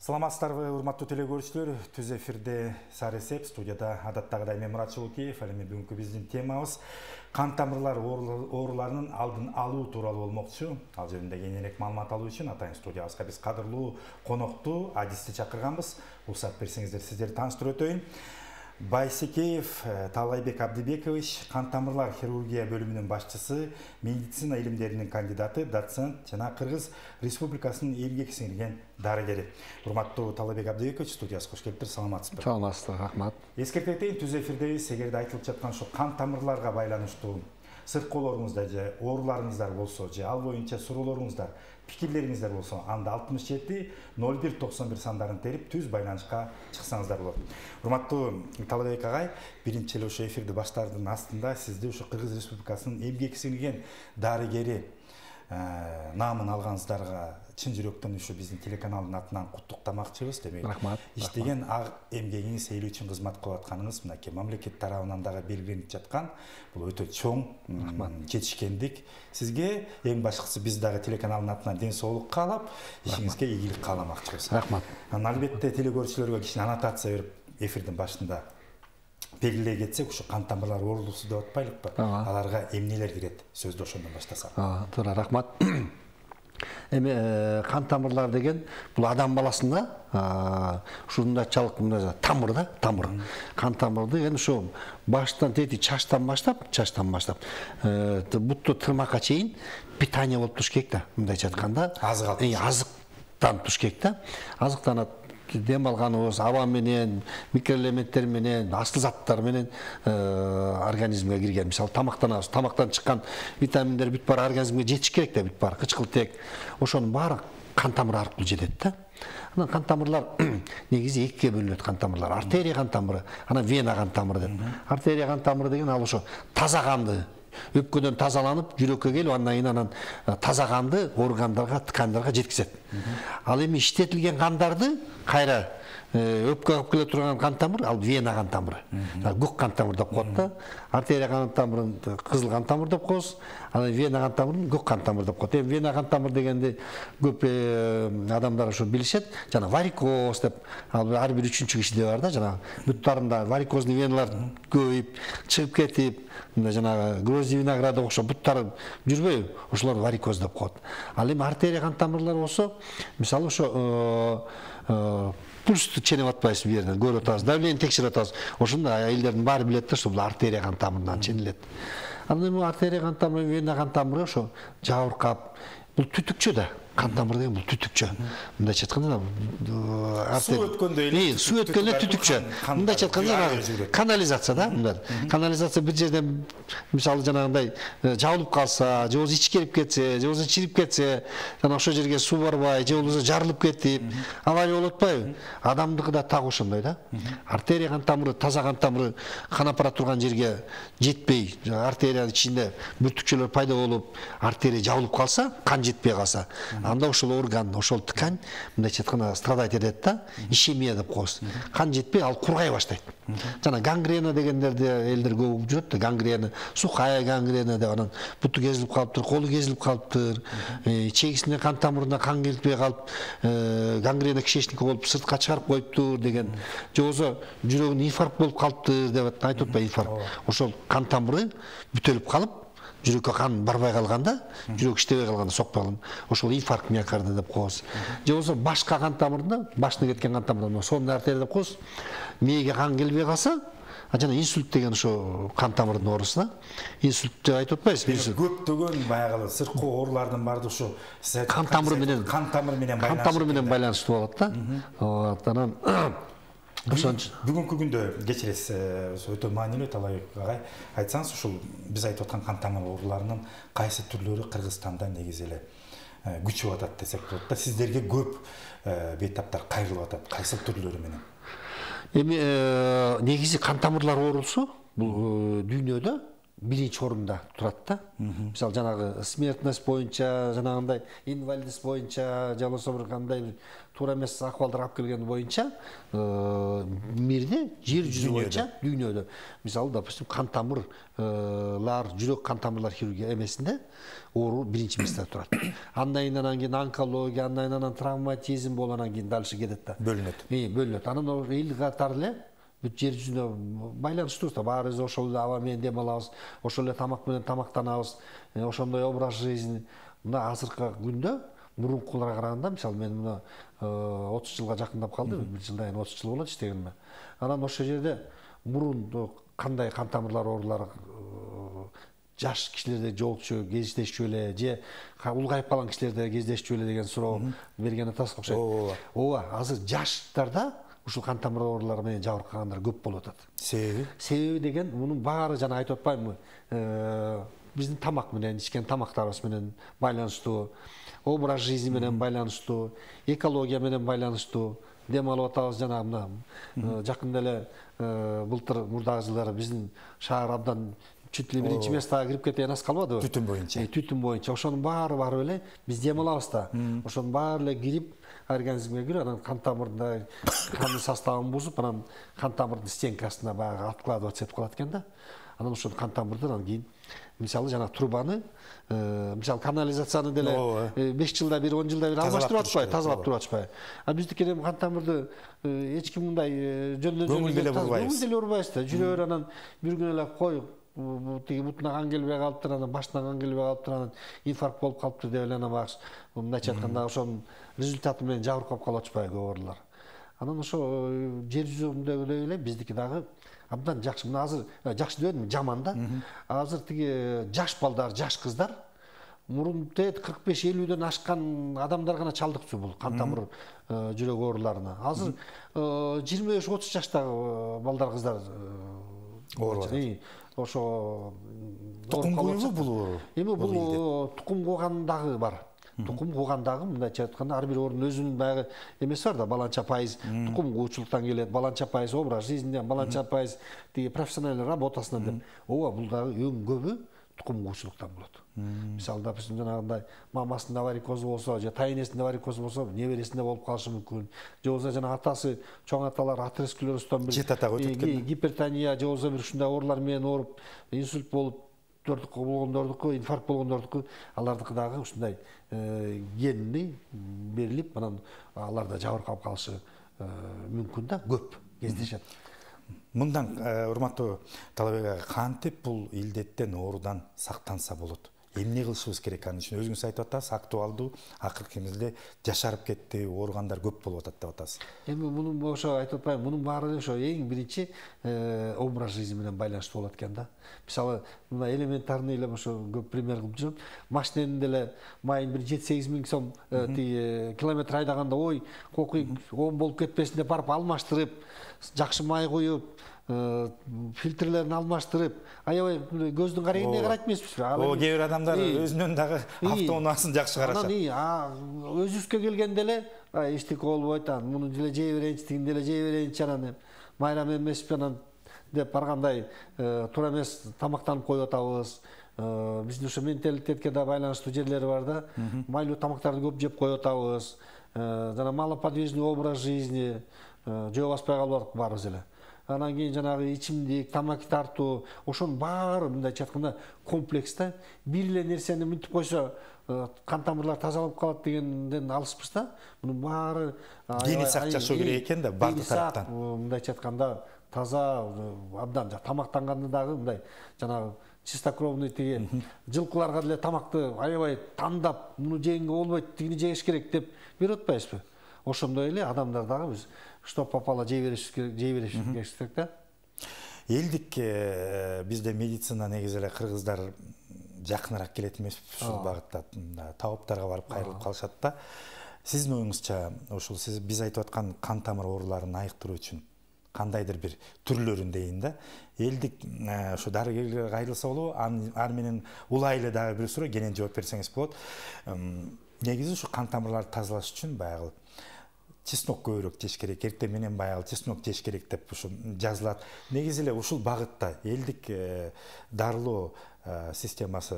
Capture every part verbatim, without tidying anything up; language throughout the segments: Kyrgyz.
Саламатсыздарбы, урматтуу телекөрүүчүлөр. Түз эфирде Саресеп, студияда адаттагыдай мен Мурат Чулукеев. Ал эми бүгүнкү биздин темабыз кан тамырлар ооруларынын алдын алуу тууралуу болмокчу. Ал жөнүндө кеңирээк маалымат алуу үчүн атайын студиябызга биз кадырлуу конокту, адисти чакырганбыз. Уруксат берсеңиздер, сиздерди тааныштырып өтөйүн. Байсекеев Талайбек Абдибекович, кан тамырлар хирургия бөлүмүнүн башчысы, медицина илимдеринин кандидаты, доцент жана Кыргыз Республикасынын эмгек сиңирген дарыгери. Урматтуу Талайбек Абдибекович, студиясына кош келиптир. Саламатсызбы? Саламатсыздар, рахмат. Эскертип кетейин, түз эфирдебиз. Эгерде айтылып жаткан ушу кан тамырларга байланыштуу сырткоолоруңузда же ооруларыңыздар болсо, же ал боюнча суроолоруңуздар, пикирлериңиздер болсо, анда алтымыш жети ноль бир токсон бир сандарын терип түз байланышка чыксаңыздар болот. Урматтуу Талайбек агай, биринчи эле ошо эфирди баштаардын астында сизди ушу Кыргыз Республикасынын эмгек сиңирген дарыгери наамын алганыңыздарга чын жүрөктөн ушу биздин телеканалдын атынан куттуктамакчыбыз. Демек, рахмат. иштеген эмгегиңиз эл үчүн кызмат кылып атканыңыз мынакей мамлекет тарабынан дагы белгиленип жаткан. Бул өтө чоң жетишкендик. Сизге эң башкысы биз дагы телеканалдын атынан ден соолук каалап, ишиңизге ийгилик кааламакчыбыз. Рахмат. Албетте телекөрүүчүлөргө кичине аннотация берип, эфирдин башында белгилей кетсек, ушу кан тамырлар оорулуусу деп атпайлыкпы? Аларга эмнелер кирет? Сөздү ошондон баштасак. Туура, рахмат. Эми кан тамырлар деген бул адам баласында ушундайчалык мындай тамыр да, тамыр. Кан тамыры деген ушу баштан тети чачтан баштап, чачтан баштап бутту тырмакка чейин питание болуп туруш керек да, мындайча айтканда. Азык алып. Азыктан туруш керек да. Азыктанат. Дем алганыбыз аба менен, микроэлементтер менен, асыл заттар менен организмге кирген. Мисалы, тамактанабыз, тамактан чыккан витаминдер бүт баары организмге жетиш керек да, бүт баары кычкылтек. Ошонун баары кан тамыры аркылуу жетет да. Анан кан тамырлар негизи экиге бөлүнөт. Кан тамырлар артерия кан тамыры, анан вена кан тамыры деп. Артерия кан тамыры деген ал ошо таза канды өпкөдөн тазаланып, жүрөккө келип, андан кийин анан таза канды органдарга, ткандарга жеткизет. Ал эми иштетилген кандарды кайра өпкө алып келе турган кан тамыр, ал вена кан тамыры. Көк кан тамыр деп коет да. Артерия кан тамырын кызыл кан тамыр деп коебуз. Анан вена кан тамырын көк кан тамыр деп коет. Эми вена кан тамыр дегенди көп адамдар ошо билишет. Жана варикоз деп, ал ар бир үчүнчү кишиде бар да, жана буттарында варикозный веналар көбөйүп, чыгып кетип, жана грозди винограда окшоп буттары жүрбөйбү, ошолор варикоз деп коет. Ал эми артерия кан тамырлар болсо, мисалы ошо пульсту ченеп атпайсыз бу жерден, көрүп атабыз, давление текшерип атабыз. Ошондо айылдардын баары билет да, ошо бул артерия кан тамырынан ченилет. Анан эми артерия кан тамыры, вена кан тамыры ошо жабыркап, бул түтүкчө да. Кан тамыры деген бул түтүкчө. Мындайча айтканда, суу өткөндө эле, суу өткөндө эле түтүкчө. Мындайча айтканда, канализация да, мындай. Канализация бир жерден мисалы жанагындай жабылып калса, же болбосо ичке кирип кетсе, же болбосо чирип кетсе, жана ошол жерге суу барбай, же болбосо жарылып кетип, авария болуп атпайбы? Адамдыкы да так ошондой да. Артерия кан тамыры, таза кан тамыры кан аппарат турган жерге жетпей, артерия ичинде бүртүкчөлөр пайда болуп, артерия жабылып калса, кан жетпей калса, анда ошол орган, ошол ткань, мындайча айтканда, страдать этет да, ишемия деп коебуз. Кан жетпей, ал кургай баштайт. Жана гангрена дегендерди элдер көп жүрөт да, гангрена, сухая гангрена деп, анан буту кезилип калыптыр, колу кезилип калыптыр, чегисине кан тамырына кан келбей калып, гангрена кишечники болуп сыртка чыгарып коюптур деген, же болбосо жүрөгүнө инфаркт болуп калыптыр деп айтып атпайбы, инфаркт. Ошол кан тамыры бүтөлүп калып, жүрөккө кан барбай калганда, жүрөк иштебей калганда, сокпой калганда, ошол инфаркт миокарда деп коебуз. Же болбосо башка кан тамырында, башына кеткен кан тамырында, сонный артерия деп коебуз. Мээге кан келбей калса, жана инсульт деген ошо кан тамырдын оорусу да. Инсульт деп айтып атпайсызбы? Көптөгөн баягы сырткы оорулардын баардыгы ошо кан тамыры менен, кан тамыры менен байланыштуу. Кан тамыры менен байланыштуу болот да. Вот, анан бүгүнкү күндө кечиресиз, өтө маанилүү Талайбек агай. Айтсаңыз, ушул биз айтып аткан кан тамыр ооруларынын кайсы түрлөрү Кыргызстанда негизи эле күчүп атат десек болот да. Сиздерге көп бейтаптар кайрылып атат. Кайсы түрлөрү менен? Эми негизи кан тамырлар оорусу бул дүйнөдө биринчи орунда турат да. Мисалы жанагы смертность боюнча, жанагындай инвалидность боюнча, же болбосо бир кандай бир туура эмес акыбалдар алып келген боюнча мирде, жер жүзү боюнча, дүйнөдө мисалы допустим кан тамырлар, жүрөк кан тамырлар хирургия эмесинде оору биринчи месте турат. Андан кийин онкология, андан кийин травматизм болуп анан кийин дальше кетет да. Бөлүнөт. Э, бөлүнөт. Анан эл катары эле бүт жер жүзүнө байланыштуубуз да. Баарыбыз ошол эле аба менен дем алабыз, ошол эле тамак менен тамактанабыз, ошондой образ жизни. Мына азыркы күндө мурункуларга караганда, мисалы мен мына отуз жылга жакындап калды, бир жылдан кийин отуз жыл болот иштегениме. Анан ошол жерде мурун кандай кан тамырлар оорулары жаш кишилерде жолчу кездешчү эле же улгайып калган кишилерде кездешчү эле деген суроо берген атасыз окшойт. Ооба. Ооба, азыр жаштарда ушул кан тамыр оорулары менен жабыркагандар көп болуп атат. Себеби? Себеби деген мунун баары жана айтып атпаймынбы? Биздин тамак менен, ичкен тамактарыбыз менен байланыштуу, образ жизни менен байланыштуу, экология менен байланыштуу. Дем алып атабыз жана мына жакында эле былтыр мурдагы жылдары биздин шаар абдан чүт эле биринчи местага кирип кеткен аз калбадыбы? Түтүн боюнча. Түтүн боюнча. Ошонун баары барып эле биз дем алабыз да. Ошонун баары эле кирип организмге кирип, анан кан тамырында кандын составын бузуп, анан кан тамырдын стенкасына баягы откладываться этип калат экен да. Анан ошол кан тамырды анан кийин мисалы жана трубаны, мисалы канализацияны деле беш жылда бир, он жылда бир алмаштырып атпайбы, тазалап туруп атышпайбы. А биздики эми кан тамырды эч ким мындай жөндөн көңүл деле бурбайбыз. Көңүл деле урбайбыз да. Жүрөр анан бир күн эле кой тиги бутуна кан келбей калыптыр, анан башына кан келбей калыптыр, анан инфаркт болуп калыптыр деп эле анан багыш мындайча айтканда ошонун результаты менен жабыркап калып атышпайбы көп оорулар. Анан ошо жер жүзүндөгүдөй эле биздики дагы абдан жакшы. Мына азыр жакшы дебедимби, жаман да. Азыр тиги жаш балдар, жаш кыздар мурун кырк беш элүүдөн ашкан адамдар гана чалдыктуу бул кан тамыр жүрөк ооруларына. Азыр жыйырма беш отуз жаштагы балдар, кыздар оорулар. Ошо тукум куюбу бул оору? Эми бул тукум куугандагы бар. Тукум куугандагы мындайча айтканда ар бир оорунун өзүнүн баягы эмеси бар да, баланча пайыз тукум куучулуктан келет, баланча пайыз образ жизниден, баланча пайыз тиги профессиональный работасынан деп. Ооба, бул дагы эң көбү тукум куучулуктан болот. Мисалы, допустим, жанагындай мамасында варикоз болсо, же тайнесинде варикоз болсо, небересинде болуп калышы мүмкүн. Же болбосо жана атасы, чоң аталар атеросклерозтон бир гипертония, же болбосо бир ушундай оорулар менен ооруп, инсульт болуп болгондордуку, инфаркт болгондордуку, алардыкы дагы ушундай генни берилип, анан алар да жабыркап калышы мүмкүн да, көп кездешет. Мындан урматтуу Талабек ага, кантип бул илдеттен, оорудан сактанса болот? Эмне кылышыбыз керек анын үчүн? Өзүңүз айтып атасыз, актуалдуу, акыркы кезде жашарып кетти, ооругандар көп болуп атат деп атасыз. Эми мунун ошо айтып атпаймынбы, мунун баары эле ошо эң биринчи образ жизни менен байланыштуу болот экен да. Мисалы, мына элементарный эле ошо көп пример кылып жүрөм. Машиненин деле майын бир жети сегиз миң сом тиги километр айдаганда, ой, кокуй он болуп кетпесин деп барып алмаштырып, жакшы май куюп, фильтрлерин алмаштырып, аябай көздүн карегине карайт эмеспизби? О, кээ бир адамдар өзүнүн дагы автоунаасын жакшы карашат. Анан өзүбүзгө келгенде эле эчтеке болбойт, анан муну деле жей берейинчи, тигини деле жей берейинчи, анан майрам эмеспи анан деп баргандай туура эмес тамактанып коюп атабыз. Биздин ошо менталитетке да байланыштуу жерлери бар да. Майлуу тамактарды көп жеп коюп атабыз. Жана малоподвижный образ жизни жөө баспай калып барбыз эле. Анан кийин жанагы ичимдик, тамаки тартуу, ошонун баары мындайча айтканда комплекс да. Бир эле нерсени мынтип койсо кан тамырлар тазалап калат дегенден алыспыз да. Мунун баары дени сак жашоо керек экен да, бардык тараптан. Мындайча айтканда таза, абдан тамактанганда дагы мындай жанагы чистокровный тиги жылкыларга деле тамакты аябай тандап, муну жегенге болбойт, тигини жегиш керек деп берип атпайбызбы? Ошондой эле адамдар дагы биз что попало жей бериш керек, жей бериш керек да. Элдик бизде медицина негизи эле кыргыздар жакыныраак келет эмеспи ушул багытта, табыптарга барып кайрылып калышат да. Сиздин оюңузча, ушул сиз биз айтып аткан кан тамыр ооруларын айыктыруу үчүн кандайдыр бир түрлөрүн дейин да. Элдик ушу дарыгерлерге кайрылса болобу, аны менен улайлы дагы бир суроо, кенен жооп берсеңиз болот. Негизи ушу кан тамырларды тазалаш үчүн баягы чеснок көбүрөөк жеш керек, эртең менен баягы чеснок жеш керек деп ушул жазылат. Негизи эле ушул багытта элдик дарылоо системасы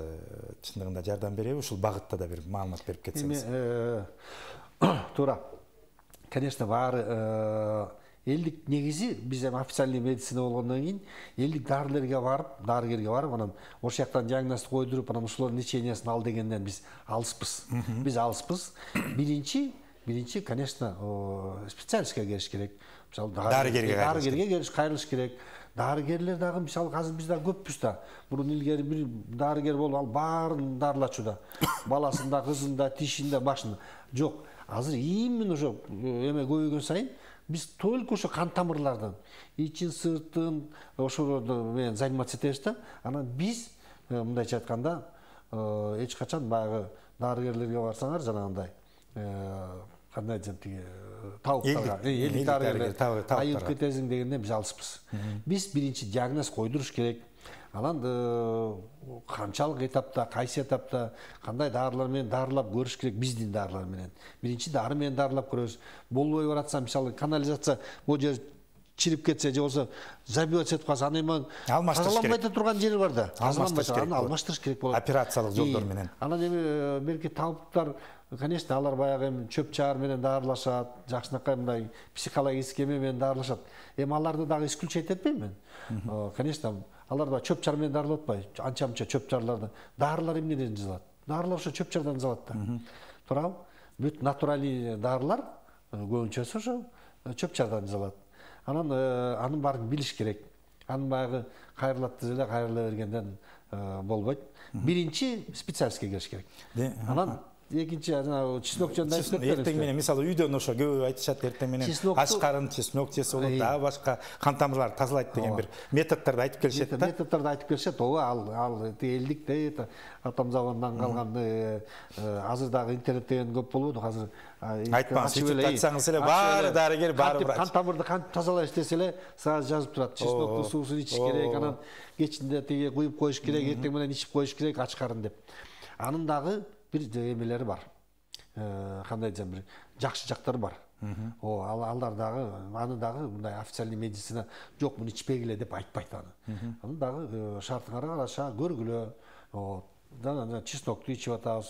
чындыгында жардам береби? Ушул багытта да бир маалымат берип кетсеңиз. Туура. Конечно, баары элдик негизи биз эми официальный медицина болгондон кийин элдик дарылерге барып, дарыгерге барып, анан ошол жактан диагноз койдуруп, анан ушулардын лечениясын ал дегенден биз алыспыз. Биз алыспыз. Биринчи, биринчи, конечно, специалистке келиш керек. Мисалы, дарыгерге дарыгерге келиш, кайрылыш керек. Дарыгерлер дагы мисалы азыр биз да көппүз да. Мурун илгери бир дарыгер болуп, ал баарын дарылачу да. Баласын да, кызын да, тишин да, башын. Жок. Азыр именно ошо эме көбөйгөн сайын биз только ошо кан тамырлардан, ичин, сыртын ошолорду менен заниматься этебиз да. Анан биз мындайча айтканда эч качан баягы дарыгерлерге барсаңар жанагындай кандай десем тиги табыптарга, элдик дарыгерлер айылып кетесиң дегенден биз алыспыз. Биз биринчи диагноз койдуруш керек. Анан канчалык этапта, кайсы этапта кандай дарылар менен дарылап көрүш керек, биздин дарылар менен. Биринчи дары менен дарылап көрөбүз. Болбой баратса, мисалы канализация бул жер чирип кетсе, же болсо забивать этип калса, аны эми тазаланбай турган жери бар да. Аны алмаштырыш керек болот. Операциялык жолдор менен. Анан эми белки табыптар, конечно, алар баягы эми чөп чаар менен дарылашат, жакшынакай мындай психологический эме менен дарылашат. Эми аларды дагы исключать этпейм мен. Конечно, алар да чөп чаар менен дарылап атпайбы? Анча-мынча чөп чаарларды. Дарылар эмнеден жасалат? Дарылар ошо чөп чаардан жасалат да. Туурабы? Бүт натуралий дарылар көбүнчөсү ошо чөп чаардан жасалат. Анан анын баарын билиш керек. Анын баягы кайрылат эле, кайрыла бергенден болбойт. Биринчи специалистке келиш керек. Анан экинчи жана чеснок жөнүндө айтып кеткен. Эртең менен мисалы үйдөн ошо көп айтышат, эртең менен ашкарын чеснок жесе болот, дагы башка кан тамырларды тазалайт деген бир методдорду айтып келишет да. Методдорду айтып келишет. Ооба, ал ал элдик да, атом заводунан калган азыр дагы интернет деген көп болбоду. Азыр айтпаңыз, ютубта айтсаңыз эле баары дарыгер, баары врач. Кан тамырды кантип тазалайш десе эле сразу жазып турат. Чесноктун суусун ичиш керек, анан кечинде тиги куюп коюш керек, эртең менен ичип коюш керек, ачкарын деп. Анын дагы бир эмелери бар. Кандай десем, бир жакшы жактары бар. О, алар дагы, аны дагы мындай официальный медицина жок, муну ичпегиле деп айтпайт аны. Аны дагы шартыңарга караша көргүлө. О, чеснокту ичип атабыз,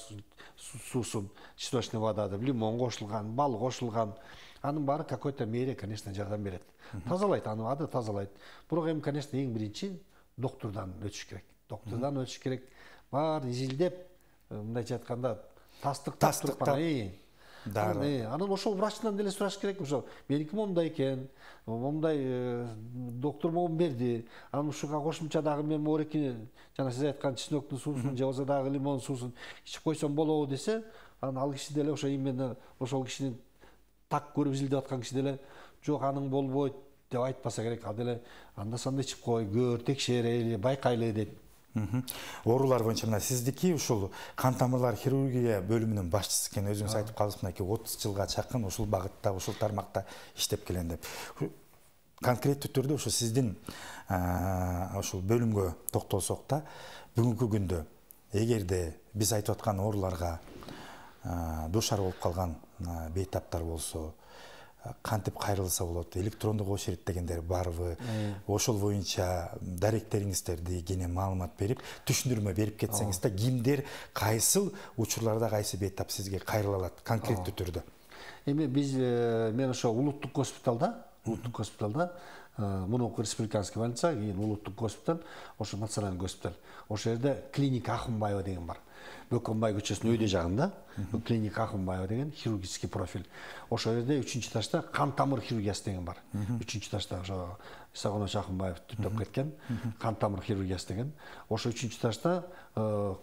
суусун, чесночный вода деп, лимон кошулган, бал кошулган. Анын баары какой-то мере, конечно, жардам берет. Тазалайт, аны ады тазалайт. Бирок эми, конечно, эң биринчи доктурдан өтүш керек. Доктурдан өтүш керек. Баарын изилдеп, мындайча айтканда тастыктап туруп анан ошол врачтан деле сураш керек. Ошо меники момундай экен, момундай доктор могун берди. Анан ушуга кошумча дагы мен морекини жана сиз айткан чесноктун суусун же болсо дагы лимон суусун ичип койсом болобу десе, анан ал киши деле ошо именно ошол кишинин так көрүп изилдеп аткан киши деле жок, аның болбойт деп айтпаса керек. Ал деле анда санда ичип кой, көр, текшерели, байкайлы дейт. Оорулар боюнча мына сиздики ушул кан тамырлар хирургия бөлүмүнүн башчысы экен, өзүңүз айтып калдыңыз, мынакей отуз жылга чакын ушул багытта, ушул тармакта иштеп келем деп. Конкреттүү түрдө ошо сиздин ушул бөлүмгө токтолсок да, бүгүнкү күндө эгерде биз айтып аткан ооруларга дуушар болуп калган бейтаптар болсо, кантип кайрылса болот, электрондук очередь дегендер барбы, ошол боюнча даректериңиздерди кене маалымат берип, түшүндүрмө берип кетсеңиз да, кимдер кайсыл учурларда кайсы бейтап сизге кайрыла алат конкреттүү түрдө? Эми биз мен ошо улуттук госпиталда, улуттук госпиталда, мурунку республиканский больница, кийин улуттук госпиталь, ошо национальный госпиталь. Ошол жерде клиника Ахунбаева деген бар. Бөкөнбай көчөсүнүн өйдө жагында клиника Ахунбаева деген хирургический профиль. Ошол жерде үчүнчү этажда кан тамыр хирургиясы деген бар. үчүнчү этажда ошо Исагонович Ахунбаев түптөп кеткен кан тамыр хирургиясы деген. Ошо үчүнчү этажда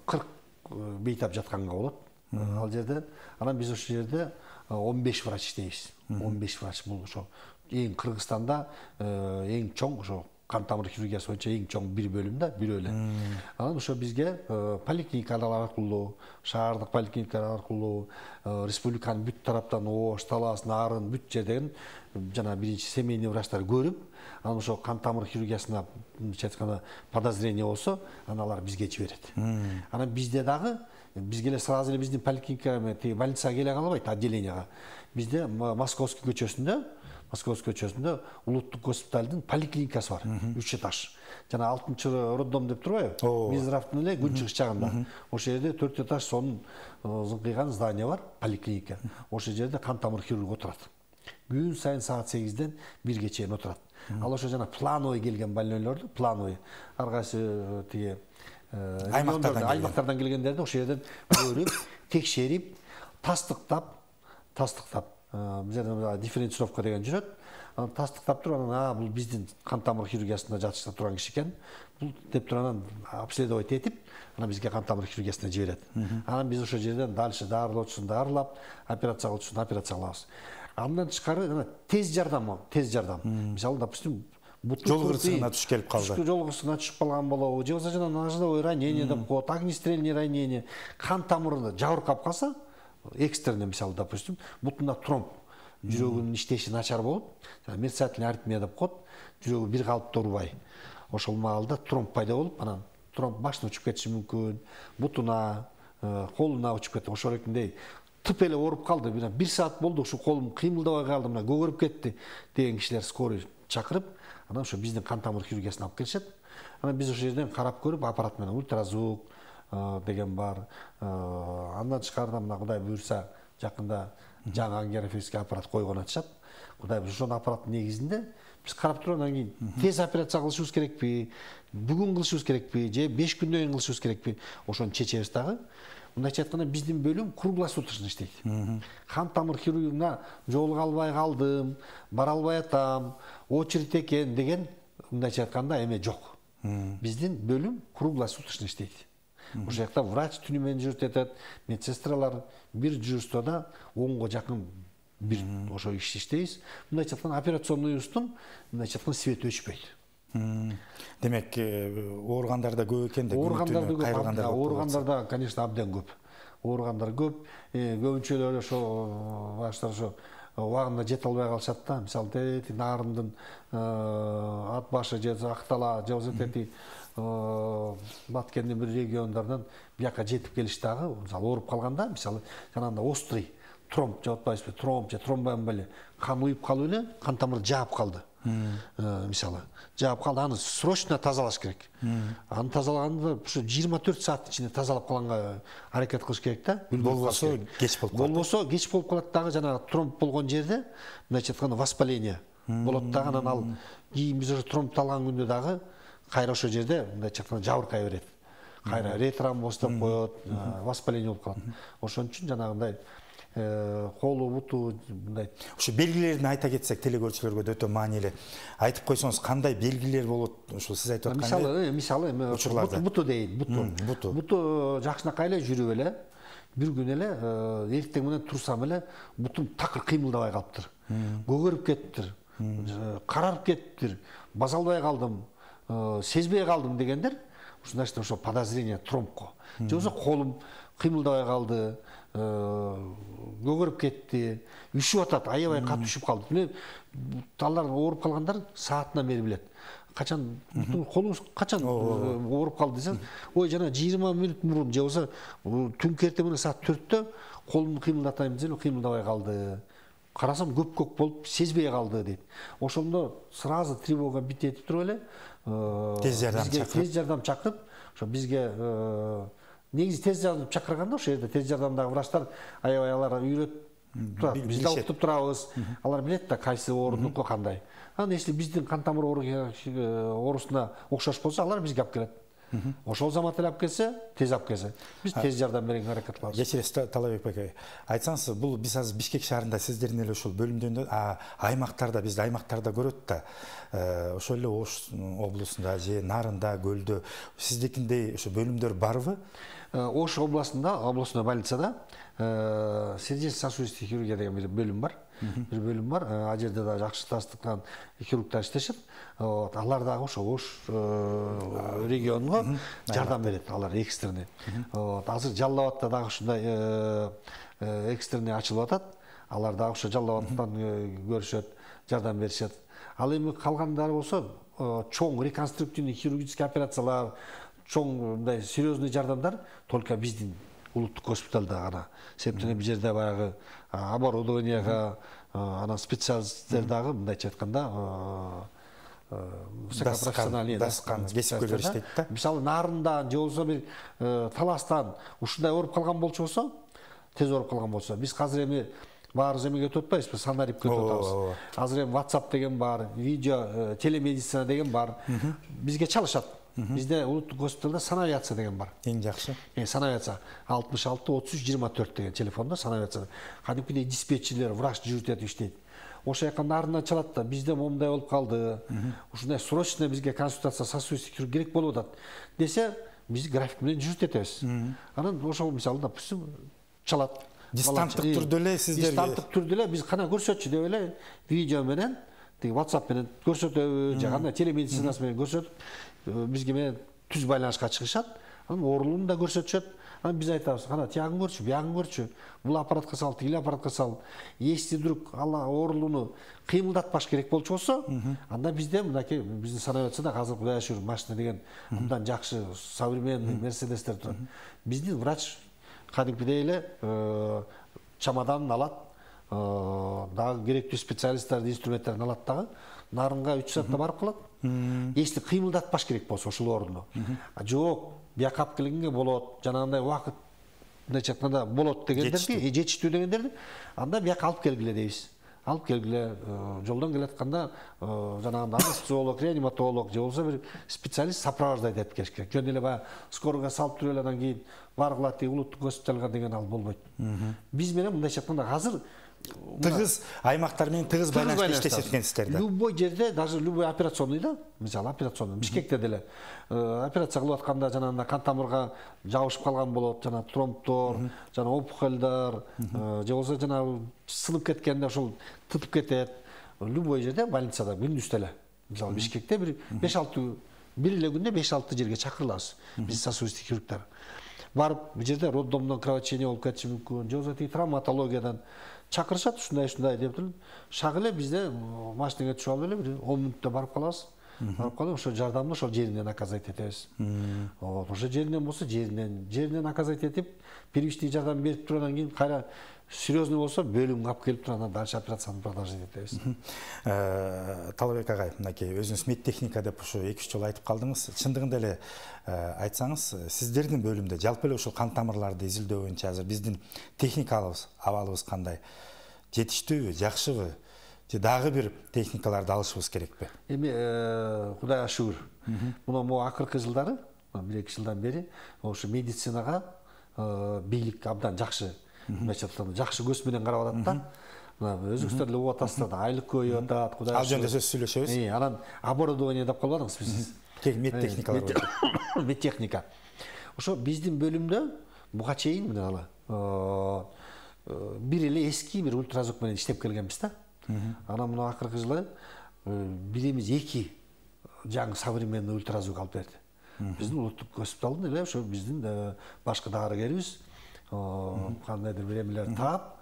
кырк бейтап жатканга болот. Ал жерде анан биз ошол жерде он беш врач иштейбиз. он беш врач бул ошо эң Кыргызстанда эң чоң ошо кан тамыр хирургиясы боюнча эң чоң бир бөлүм да, бир эле. Анан ошо бизге поликлиникалар аркылуу, шаардык поликлиникалар аркылуу, республиканын бүт тараптан Ош, Талас, Нарын бүт жерден жана биринчи семейный врачтар көрүп, анан ошо кан тамыр хирургиясына мындайча айтканда подозрение болсо, анан алар бизге жиберет. Анан бизде дагы бизге эле сразу эле биздин поликлиникага, тиги больницага келе калбайт, отделенияга. Бизде Московский көчөсүндө, Московский көчөсүндө улуттук госпиталдын поликлиникасы бар, үч этаж. Жана алтынчы роддом деп турбайбы? Минздравдын эле күнчыгыш жагында. Ошол жерде төрт этаж сонун зыңкыйган здание бар, поликлиника. Ошол жерде кан тамыр хирургу отурат. Күн сайын саат сегизден бирге чейин отурат. Ал ошо жана плановый келген больнойлорду, плановый ар кайсы тиги аймактардан аймактардан келгендерди ошол жерден көрүп, текшерип, тастыктап, тастыктап, бул жерде дифференцировка деген жүрөт. Тастыктап туруп, анан бул биздин кан тамыр хирургиясында жатышта турган киши экен. Бул деп туруп анан обследовать этип, анан бизге кан тамыр хирургиясына жиберет. Анан биз ошол жерден дальше дарылоочусун дарылап, операция кылуучусун операция кылабыз. Андан тышкары ана тез жардам, тез жардам. Мисалы, допустим, жол кырсыгына түшүп келип калды. Жол кырсыгына түшүп калган болобу, же болбосо жана ножевое ранение деп коет, огнестрельное ранение, кан тамырында жабыркап калса, экстренный, мисалы, допустим, бутунда тромб, жүрөгүнүн иштеши начар болуп, мерцательная аритмия деп коет, жүрөгү бир калыпта урбай. Ошол маалда тромб пайда болуп, анан тромб башына учуп кетиши мүмкүн, бутуна, колуна учуп кетти. Ошол экиндей тып эле ооруп калды, бир саат болду, ушу колум кыймылдабай калды, мына көгөрүп кетти деген кишилер скорый чакырып, анан ошо биздин кан тамыр хирургиясына алып келишет. Анан биз ошол жерден карап көрүп, аппарат менен ультразвук деген бар. Андан тышкары мына Кудай буйрса, жакында жаңы ангиографический аппарат койгон атышат. Кудай буйрса, ошол аппараттын негизинде биз карап туруп, анан кийин тез операция кылышыбыз керекпи, бүгүн кылышыбыз керекпи, же беш күндөн кийин кылышыбыз керекпи, ошону чечебиз дагы. Мындайча айтканда, биздин бөлүм круглосуточно иштейт. Кан тамыр хирургиясына жолуга албай калдым, бара албай атам, очередь экен деген мындайча айтканда эме жок. Биздин бөлүм круглосуточно иштейт. Ошол жакта врач түнү менен жүрүп атат, медсестралар бир дежурствода онго жакын бир ошо иш иштейбиз. Мындайча айтканда, операционныйыбыздын мындайча айтканда свети өчпөйт. Демек, ооругандар да көп экен да, ооругандар да көп, ооругандар да, конечно, абден көп. Ооругандар көп, көбүнчөлөр ошо баштар ошо убагында жете албай калышат да. Мисалы, Нарындын ат башы же Актала, же болбосо Баткендин бир региондарынан бияка жетип келиш дагы, мисалы, ооруп калганда, мисалы, жанагындай острый тромб, же атпайсызбы, тромб же тромбоэмболия, кан уюп калып эле, кан тамыр жаап калды. Мисалы, жаап калды, аны срочно тазалаш керек. Аны тазалаганда ушу жыйырма төрт саат ичинде тазалап калганга аракет кылыш керек да. Болбосо кеч болуп калат. Болбосо кеч болуп калат дагы, жанагы тромб болгон жерде, мындайча айтканда, воспаление болот дагы, анан ал кийин биз ошо тромбду алган күндө дагы кайра ошол жерде мындайча айтканда жабыркай берет. Кайра ретромбоз деп коет, воспаление болуп калат. Ошон үчүн жанагындай колу, буту мындай. Ошо белгилерин айта кетсек, телекөрүүчүлөргө да өтө маанилүү. Айтып койсоңуз, кандай белгилер болот? Ошо сиз айтып аткандай. Мисалы, мисалы, буту дейин, буту. Буту. Буту жакшынакай эле жүрүп эле, бир күн эле эртең менен турсам эле бутум такыр кыймылдабай калыптыр. Көгөрүп кеттир, карарып кеттир, баса албай калдым, сезбей калдым дегендер, ушундай ошо подозрение тромбко. Же болбосо колум кыймылдабай калды, көгөрүп кетти, үшүп атат, аябай катуу үшүп калды. Мына алар ооруп калгандар саатына бери билет. Качан колуңуз качан ооруп калды десең, ой, жана жыйырма мүнөт мурун, же болбосо түнкү эртең менен саат төрттө колумду кыймылдатайм десем, кыймылдабай калды. Карасам көк-көк болуп, сезбей калды дейт. Ошондо сразу тревога бит этип туруп эле, тез жардам чакырып, тез жардам чакырып, ошо бизге негизи тез жардам чакырганда ошол жерде тез жардамдагы врачтар аябай алар үйрөтүп турат. Биз да уктуп турабыз. Алар билет да кайсы оорунуку кандай. Анан если биздин кан тамыр оорусуна окшош болсо, алар бизге алып келет. Ошол замат эле алып келсе, тез алып келсе, биз тез жардам берүүгө аракет кылабыз. Кечиресиз, Талайбек байке. Айтсаңыз, бул биз азыр Бишкек шаарында сиздердин эле ошол бөлүмдөн аймактарда, бизди аймактарда көрөт да. Ошол эле Ош облусунда же Нарында, Көлдө сиздикиндей ошо бөлүмдөр барбы? Ош областында, областной больницада сердечно-сосудистый хирургия деген бир бөлүм бар. Бир бөлүм бар. Ал жерде да жакшы тастыккан хирургдар иштешет. Алар дагы ошо Ош регионуна жардам берет, алар экстренный. Азыр Жалал Абадта дагы ушундай экстренный ачылып атат. Алар дагы ошо Жалал Абадтан көрүшөт, жардам беришет. Ал эми калгандары болсо чоң реконструктивный хирургический операциялар, чоң мындай серьезный жардамдар только биздин улуттук госпиталда гана. Себептен бул жерде баягы оборудованияга анан специалисттер дагы мындайча айтканда высокопрофессиональный кесипкөйлөр иштейт да. Мисалы Нарындан же болбосо бир Таластан ушундай ооруп калган болчусо, тез ооруп калган болсо, биз азыр эми баарыбыз эмеге өтүп атпайбызбы, санарип өтүп атабыз. Азыр эми WhatsApp деген бар, видео телемедицина деген бар. Бизге чалышат. Бизде улуттук госпиталда санавиация деген бар. Эң жакшы. Э, санавиация алтымыш алты отуз үч жыйырма төрт деген телефонда санавиация. Кадимкидей диспетчерлер, врач жүрүтүп иштейт. Ошо жака Нарындан чалат да, бизде момундай болуп калды. Ушундай срочно бизге консультация сосудистый хирург керек болуп атат десе, биз график менен жүрүтөбүз. Анан ошол мисалы, допустим, чалат. Дистанттык түрдө эле сиздер дистанттык түрдө эле биз кана көрсөтчү деп эле видео менен, тиги WhatsApp менен көрсөтөбүз, же кандай телемедицинасы менен көрсөтүп, бизге менен түз байланышка чыгышат. Анан оорулууну да көрсөтүшөт. Анан биз айтабыз, кана тиягын көрчү, биягын көрчү, бул аппаратка сал, тигил аппаратка сал. Если вдруг алла оорулууну кыймылдатпаш керек болчу болсо, анда бизде мынакей биздин санавиацияда азыр Кудайга шүгүр машина деген мындан жакшы современный мерседестер турат. Биздин врач кадимкидей эле чамаданын алат, дагы керектүү специалисттарды, инструменттерин алат дагы Нарынга үч саатта барып калат. Если кыймылдатпаш керек болсо ошол орунду. Жок, бияка алып келгенге болот, жанагындай убакыт мындайча айтканда болот дегендерди, жетиштүү дегендерди, анда бияка алып келгиле дейбиз. Алып келгиле, жолдон келатканда жанагындай анестезиолог, реаниматолог же болбосо бир специалист сопровождать этип келиш керек. Жөн эле баягы скорыйга салып туруп эле анан кийин баргыла тиги улуттук госпиталга деген ал болбойт. Биз менен мындайча айтканда азыр тыгыз аймактар менен тыгыз байланышта иштешет экенсиздер да. Любой жерде, даже любой операционныйда, мисалы операционный, Бишкекте деле операция кылып атканда жанагындай кан тамырга жабышып калган болот, жана тромбтор, жана опухолдор, же болбосо жана сынып кеткенде ошол тытып кетет. Любой жерде больницада күндүз деле. Мисалы Бишкекте бир беш алты бир эле күндө беш алты жерге чакырылабыз. Биз сосудистый хирургдар. Барып, бул жерде роддомдон кровотечение болуп кетиши мүмкүн, же болбосо травматологиядан чакырышат, ушундай ушундай деп туруп, шак эле бизде машинеге түшүп алып эле бир он мүнөттө барып калабыз. Барып калып, ошо жардамды ошол жеринен оказать этебиз. Вот, ошо жеринен болсо жеринен, жеринен оказать этип, первичный жардам берип туруп анан кийин кайра серьезный болсо бөлүмгө алып келип туруп анан дальше операцияны продолжить этебиз. Талабек агай, мынакей өзүңүз медтехника деп ушу эки үч жолу айтып калдыңыз. Чындыгында эле айтсаңыз, сиздердин бөлүмдө жалпы эле ушул кан тамырларды изилдөө боюнча азыр биздин техникалыбыз, абалыбыз кандай? Жетиштүүбү, жакшыбы? Же дагы бир техникаларды алышыбыз керекпи? Эми Кудайга шүгүр. Мына могу акыркы жылдары, бир эки жылдан бери ошо медицинага бийлик абдан жакшы, мындайча айтканда жакшы көз менен карап атат да. Мына өзүңүздөр эле угуп атасыздар да, айлык көбөйүп атат, Кудайга. Ал жөнүндө сөз сүйлөшөбүз. Э, анан оборудование деп калбадыңызбы сиз? Медтехникалар. Медтехника. Ошо биздин бөлүмдө буга чейин мына алы бир эле эски бир ультразвук менен иштеп келгенбиз да. Анан мына акыркы жылы бирimiz эки жаңы современный ультразвук алып берди. Биздин улуттук госпиталдын эле ошо биздин башкы дарыгерибиз кандайдыр бир эмелер таап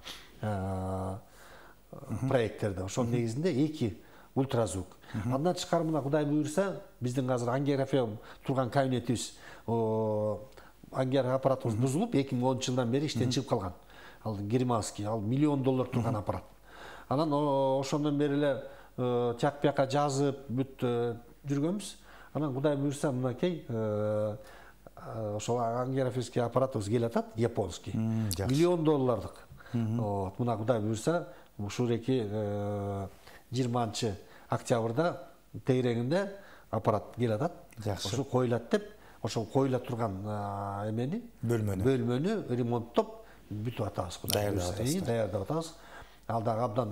проекттерде ошол негизинде эки ультразвук. Андан тышкары мына Кудай буйрса, биздин азыр ангиография турган кабинетибиз, ангиография аппаратыбыз бузулуп эки миң онунчу жылдан бери иштен чыгып калган. Ал германский, ал миллион доллар турган аппарат. Анан ошондон бери эле тияк бияка жазып бүт жүргөнбүз. Анан Кудай буйрса, мынакей ошол ангиографический аппаратыбыз келатат, японский. Миллион доллардык. Вот, мына Кудай буйрса, ушул эки жыйырманчы октябрда тегерегинде аппарат келатат. Ошо коюлат деп, ошол коюла турган эмени, бөлмөнү, бөлмөнү ремонттоп бүтүп атабыз. Кудай буйрса, даярдап атабыз. Ал дагы абдан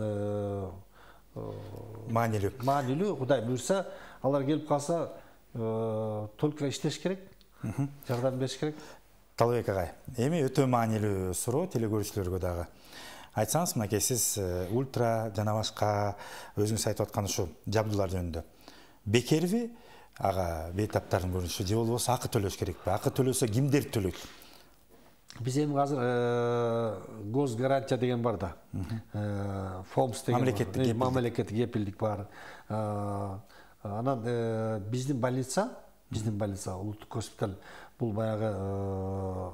маанилүү. Маанилүү, Кудай буйрса, алар келип калса, только иштеш керек, жардам бериш керек. Талабек агай, эми өтө маанилүү суроо телекөрүүчүлөргө дагы. Айтсаңыз, мынакей сиз ультра жана башка өзүңүз айтып аткан ушу жабдуулар жөнүндө бекерби ага бейтаптардын көрүнүшү, же болбосо акы төлөш керекпи? Акы төлөсө кимдер төлөйт? Биз эми азыр госгарантия деген бар да. Фомс деген мамлекеттик кепилдик бар. Анан биздин больница, биздин больница улуттук госпиталь бул баягы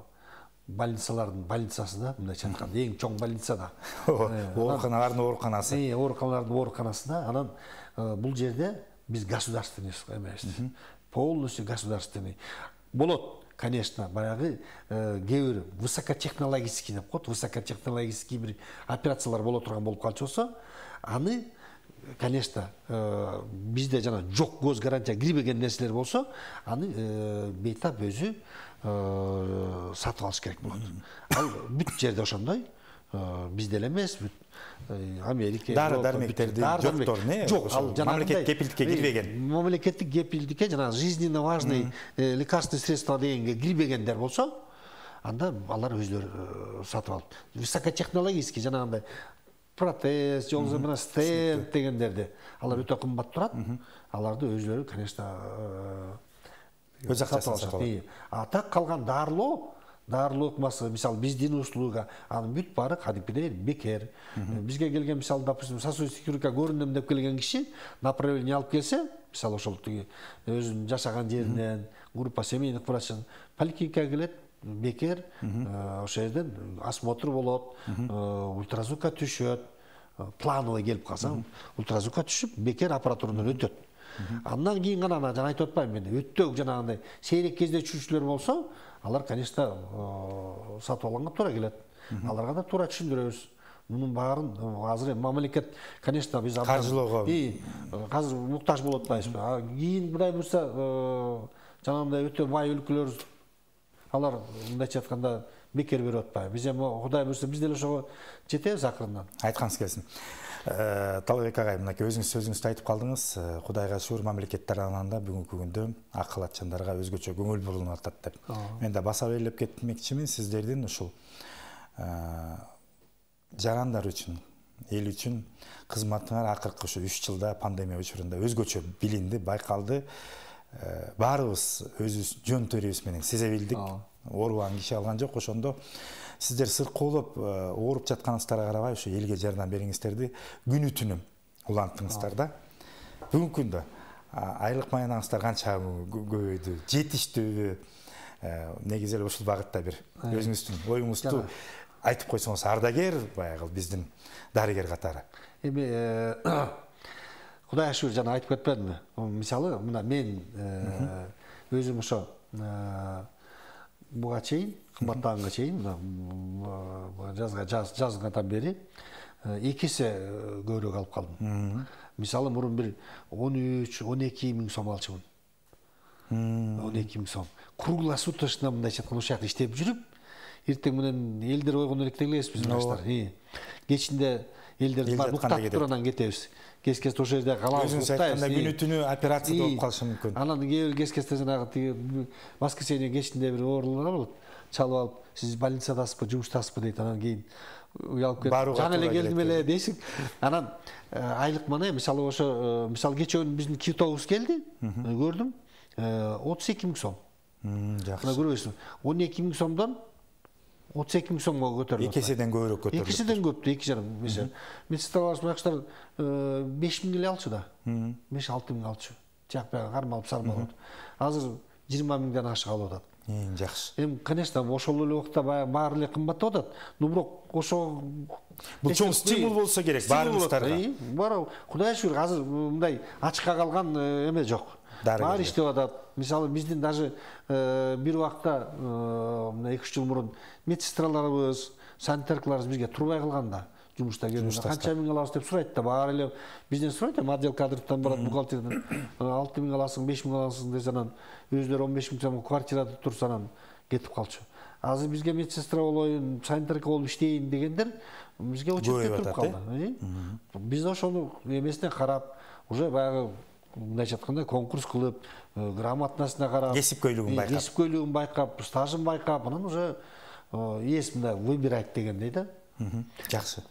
больницалардын больницасы да, мындайча айтканда эң чоң больница да. Ооруканалардын ооруканасы. Э, ооруканалардын ооруканасында анан бул жерде биз государственный эмес. Полностью государственный. Болот, конечно, баягы кээ бир высокотехнологический деп коет, высокотехнологический бир операциялар боло турган болуп калчу болсо, аны конечно, бизде жана жок көз гарантия кирбеген нерселер болсо, аны бейтап өзү сатып алыш керек болот. Ал бүт жерде ошондой, бизде эле эмес, бүт Америка, дары дармектерди жоктор, не? Жок, ал мамлекет кепилдикке кирбеген. Мамлекеттик кепилдикке жана жизненно важный лекарственный средства дегенге кирбегендер болсо, анда алар өзлөрү сатып алат. Высокотехнологический жанагындай протез, жол мына стенд дегендерди алар өтө кымбат турат. Аларды өзлөрү, конечно, өз акчасына сатып алат. А так калган дарылоо, дарылоо ыкмасы, мисалы биздин услуга, анын бүт баары кадимкидей бекер. Бизге келген, мисалы, допустим, сосудистый хирургка көрүнөм деп келген киши направление алып келсе, мисалы ошол тиги өзүнүн жашаган жеринен, группа семейных врачтан поликлиникага келет, бекер, ошол жерден осмотр болот, ультразвукка түшөт, плановый келип калса, ультразвукка түшүп, бекер аппаратурадан өтөт. Андан кийин гана жана айтып атпаймынбы, эми өттөк жанагындай сейрек кезде түшүүчүлөр болсо, алар, конечно, сатып алганга туура келет. Аларга да туура түшүндүрөбүз. Мунун баарын азыр мамлекет, конечно, биз каржылоого азыр муктаж болуп атпайбызбы? Кийин Кудай буйрса, жанагындай өтө бай өлкөлөр алар мындайча айтканда бекер берип атпайбы. Биз эми Кудай буйрса биз деле ошого жетебиз акырындан. Айтканыңыз келсин. Талабек агай, мынакей өзүңүз сөзүңүздө айтып калдыңыз, Кудайга шүгүр мамлекет тарабынан бүгүнкү күндө акыл атчандарга өзгөчө көңүл бурулуп атат деп. Мен да баса белгилеп кетмекчимин сиздердин ушул жарандар үчүн, эл үчүн кызматыңар акыркы ушу үч жылда пандемия учурунда өзгөчө билинди, байкалды. Баарыбыз өзүбүз жөн төрүбүз менен сезе билдик. Оорубаган киши алган жок, ошондо сиздер сыркоолоп ооруп жатканыңыздарга карабай ушу элге жардам бериңиздерди күнү түнү уланттыңыздар да. Бүгүнкү күндө айлык маянаңыздар канча көбөйдү, жетиштүүбү? Негизи эле ушул багытта бир өзүңүздүн оюңузду айтып койсоңуз, ардагер баягы биздин дарыгер катары. Эми Кудайга шүгүр, жана айтып кетпедимби? Мисалы, мына мен өзүм ошо буга чейин, кымбаттаганга чейин, жазга жазгандан бери эки эсе көбүрөөк алып калдым. Мисалы, мурун бир он үч он эки миң сом алчумун. он эки миң сом. Круглосуточно мындайча айтканда ошол жакта иштеп жүрүп, эртең менен элдер койгондон элек элебиз биз баштар. Кечинде элдерди уктатып туруп анан кетебиз. Кес-кес ошол жерде калабыз. Өзүңүз айтканда күнү түнү операция болуп калышы мүмкүн. Анан кээ бир кес-кесте жанагы тиги воскресенье кечинде бир оорулар болот. Чалып алып, сиз больницадасызбы, жумуштасызбы дейт. Анан кийин уялып кетип, жаңы эле келдим эле дейсиң. Анан айлык мана, мисалы ошо, мисалы кечөөнү биздин китобубуз келди, көрдүм. отуз эки миң сом. Жакшы. Мына көрөсүң. он эки миң сомдон отуз эки миң сомго көтөрүлдү. эки эседен көбүрөөк көтөрүлдү. эки эседен көптү, эки жарым. Медсестралар башкалар беш миң эле алчу да. беш алты миң алчу. Жак баягы кармалып сармалып. Азыр жыйырма миңден ашык алып атат. Эң жакшы. Эми, конечно, ошол эле убакта баары эле кымбаттап атат. Но бирок ошо бул чоң стимул болсо керек баарыбыздарга. Бара, Кудайга шүгүр, азыр мындай ачыкка калган эме жок. Баары иштеп атат. Мисалы, биздин даже бир убакта эки үч жыл мурун медсестраларыбыз, санитаркаларыбыз бизге турбай калганда, жумушта келгенде канча миң алабыз деп сурайт да, баары эле бизден сурайт, отдел кадрдан барат, бухгалтерден алты миң аласың, беш миң аласың десе, анан өздөрү он беш миң сом квартирада турса анан кетип калчу. Азыр бизге медсестра болоюн, санитарка болуп иштейин дегендер бизге очередке туруп калды. Биз ошону эмесине карап, уже баягы мындайча айтканда конкурс кылып, грамотностуна карап, кесипкөйлүгүн байкап, кесипкөйлүгүн байкап, стажын байкап, анан уже ээс мындай выбирать дегендей да. Жакшы.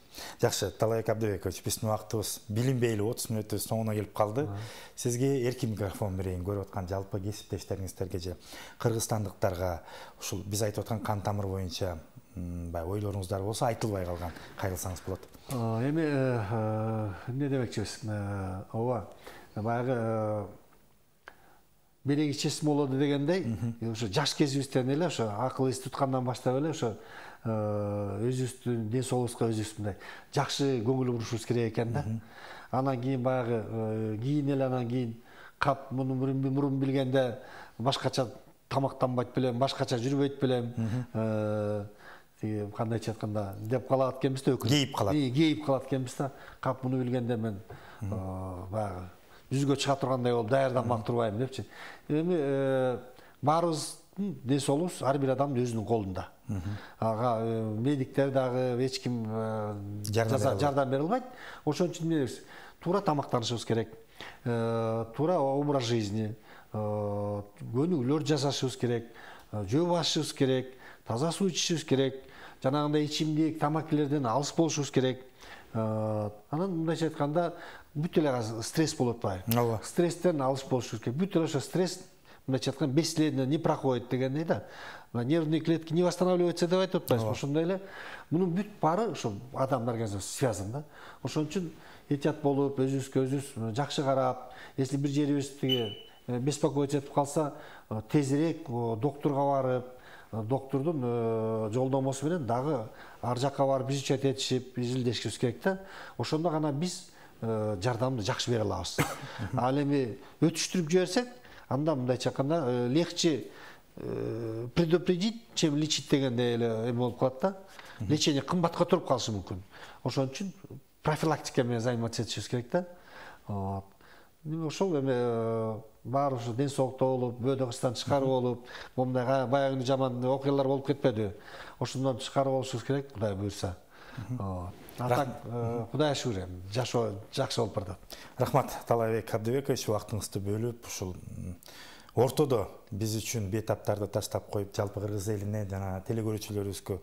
Жакшы, Талабек Абдыбекович, биздин убактыбыз билинбей эле отуз мүнөттүн соңуна келип калды. Сизге эркин микрофон берейин, көрүп аткан жалпы кесиптештериңиздерге же кыргызстандыктарга ушул биз айтып аткан кан тамыр боюнча баягы ойлоруңуздар болсо айтылбай калган кайрылсаңыз болот. Эми эмне демекчибиз? Ооба, баягы белек ичесим болоду дегендей, ошо жаш кезибизден эле ошо акыл эс туткандан баштап эле ошо өзүбүздүн ден соолугубузга өзүбүз мындай жакшы көңүл бурушубуз керек экен да. Анан кийин баягы кийин эле анан кийин кап муну мурун билгенде башкача тамактанбайт белем, башкача жүрбөйт белем. Тиги кандайча айтканда деп калат экенбиз да, өкүнүп. Кейип калат. Кейип калат экенбиз да. Кап муну билгенде мен баягы жүзгө чыга тургандай болуп даярданмак турбайм депчи. Эми баарыбыздын ден соолугубуз ар бир адамдын өзүнүн колунда. Ага медиктер дагы эч ким жардам бере албайт. Ошон үчүн эмнебиз? Туура тамактанышыбыз керек. Туура образ жизни, көнүгүүлөр жасашыбыз керек, жөө басышыбыз керек, таза суу ичишибиз керек, жанагындай ичимдик, тамакилерден алыс болушубуз керек. Анан мындайча айтканда бүт эле стресс болуп атпайбы? Ооба. Стресстен алыс болушубуз керек. Бүт эле ошо стресс мындайча айтканда бесследно не проходит дегендей да. Нервные клетки не восстанавливаются деп айтып атпайбызбы? Ошондой эле мунун бүт баары ошо адамдын организмине связан да. Ошон үчүн этият болуп, өзүбүзгө өзүбүз жакшы карап, если бир жерибиз тиги беспокоиться этип калса, тезирээк доктурга барып, доктурдун жолдомосу менен дагы ар жакка барып изучать этишип, изилдешибиз керек да. Ошондо гана биз жардамды жакшы бере алабыз. Ал эми өтүштүрүп жиберсек, анда мындайча айтканда легче предупредить, чем лечить дегендей эле эме болуп калат да. Лечение кымбатка туруп калышы мүмкүн. Ошон үчүн профилактика менен заниматься этишибиз керек да. Ошол эме баары ушу ден соолукта болуп, бөөдө кыстан тышкары болуп, момундай баягы жаман окуялар болуп кетпедиби? Ошондон тышкары болушубуз керек, Кудай буйрса. Атак, Кудайга шүгүр, жашоо жакшы болуп барат. Рахмат, Талайбек Абдыбекович, убактыңызды бөлүп, ушул ортодо биз үчүн бейтаптарды таштап коюп, жалпы кыргыз элине жана телекөрүүчүлөрүбүзгө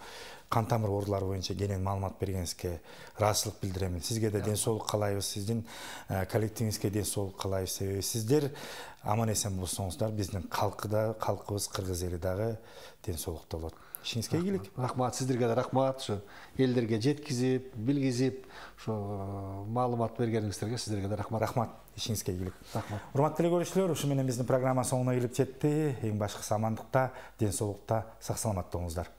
кан тамыр оорулары боюнча кенен маалымат бергениңизге ыраазычылык билдиремин. Сизге да ден соолук каалайбыз, сиздин коллективиңизге ден соолук каалайбыз. Себеби сиздер аман эсен болсоңуздар, биздин калкы да, калкыбыз, кыргыз эли дагы ден соолукта болот. Ишиңизге ийгилик. Рахмат, сиздерге да рахмат. Ушу элдерге жеткизип, билгизип, ушу маалымат бергениңиздерге сиздерге да рахмат. Рахмат. Ишиңизге ийгилик. Рахмат. Урматтуу телекөрүүчүлөр, ушу менен биздин программа соңуна келип жетти. Эң башкысы амандыкта, ден соолукта, сак саламатта болуңуздар.